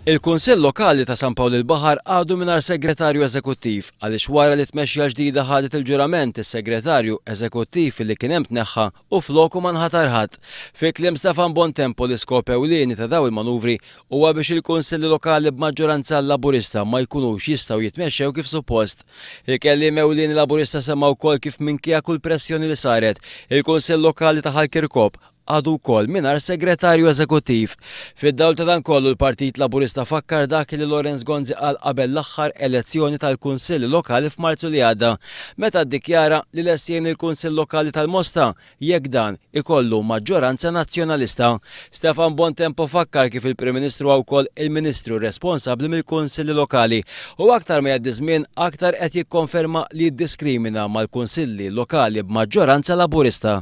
Il-Kunsill Lokali ta' San Pawl il-Baħar għadu mingħajr Segretarju Eżekuttiv għaliex wara li t-tmexxija l-ġdida ħadet il-ġurament is-Segretarju Eżekuttiv li kien hemm tneħħa u floku ma nħatar ħadd. Fi kliem Stefan Bontempo l-iskop ewlieni ta' dawn il-manuvri huwa biex il-Kunsilli Lokali b'maġġoranza Laburista ma jkunux jistgħu jitmexxew kif suppost. Il-kelliem ewlieni Laburista semma wkoll kif minkejja kull pressjoni li saret, il-Kunsill Lokali ta' Ħal Kirkop għadu wkoll mingħajr Segretarju Eżekuttiv. Fid-dawl ta' dan kollu l-Partit Laburista fakkar dak li Lawrence Gonzi qal qabel l-aħħar elezzjoni tal-Kunsilli Lokali f'Marzu li għadda, meta ddikjara li lest jgħin il-Kunsill Lokali tal-Mosta jekk dan ikollu maġġoranza Nazzjonalista. Stefan Bontempo fakkar kif il-Prim Ministru huwa wkoll il-Ministru responsabbli mill-Kunsilli Lokali u aktar ma jgħaddi żmien aktar qed jikkonferma li jiddiskrimina mal-Kunsilli Lokali b'maġġoranza Laburista.